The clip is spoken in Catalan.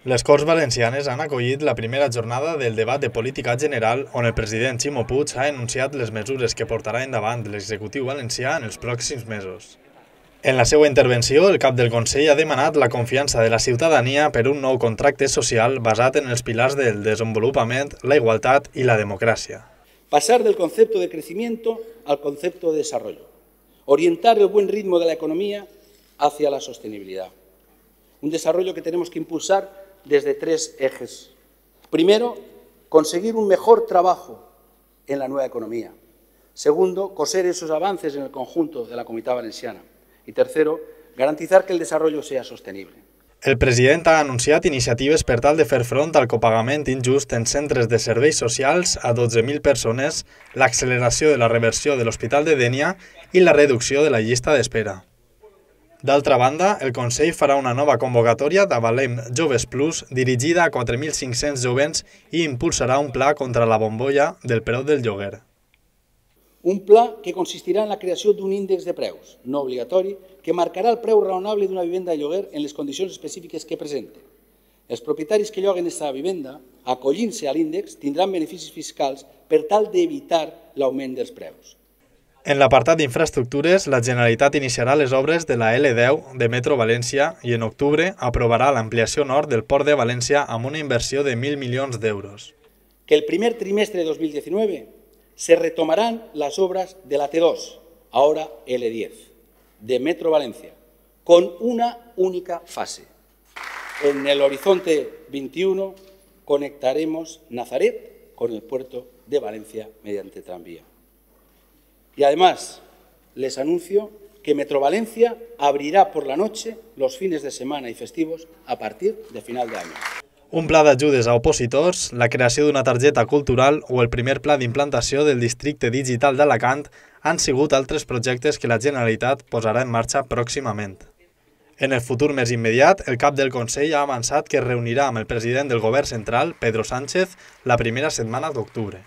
Les Corts Valencianes han acollit la primera jornada del debat de política general on el president Ximo Puig ha anunciat les mesures que portarà endavant l'executiu valencià en els pròxims mesos. En la seva intervenció, el cap del Consell ha demanat la confiança de la ciutadania per un nou contracte social basat en els pilars del desenvolupament, la igualtat i la democràcia. Pasar del concepto de crecimiento al concepto de desarrollo. Orientar el buen ritmo de la economía hacia la sostenibilidad. Un desarrollo que tenemos que impulsar desde tres ejes. Primero, conseguir un mejor trabajo en la nueva economía. Segundo, coser esos avances en el conjunto de la Comunitat Valenciana. Y tercero, garantizar que el desarrollo sea sostenible. El president ha anunciat iniciatives per tal de fer front al copagament injust en centres de serveis socials a 12.000 persones, l'acceleració de la reversió de l'Hospital de Dénia i la reducció de la llista d'espera. D'altra banda, el Consell farà una nova convocatòria d'Avalem Joves Plus dirigida a 4.500 jovens i impulsarà un pla contra la bombolla del preu del lloguer. Un pla que consistirà en la creació d'un índex de preus, no obligatori, que marcarà el preu raonable d'una vivenda de lloguer en les condicions específiques que presente. Els propietaris que lloguen aquesta vivenda, acollint-se a l'índex, tindran beneficis fiscals per tal d'evitar l'augment dels preus. En l'apartat d'infraestructures, la Generalitat iniciarà les obres de la L10 de Metro València i en octubre aprovarà l'ampliació nord del Port de València amb una inversió de 1.000 milions d'euros. Que el primer trimestre de 2019 se retomarán las obras de la T2, ahora L10, de Metro Valencia, con una única fase. En el horizonte 21 conectaremos Nazaret con el puerto de Valencia mediante tranvía. Y además, les anuncio que Metro Valencia abrirá por la noche los fines de semana y festivos a partir de final de año. Un pla d'ajudes a opositors, la creació d'una targeta cultural o el primer pla d'implantació del districte digital d'Alacant han sigut altres projectes que la Generalitat posarà en marxa pròximament. En el futur més immediat, el cap del Consell ha avançat que es reunirà amb el president del Govern central, Pedro Sánchez, la primera setmana d'octubre.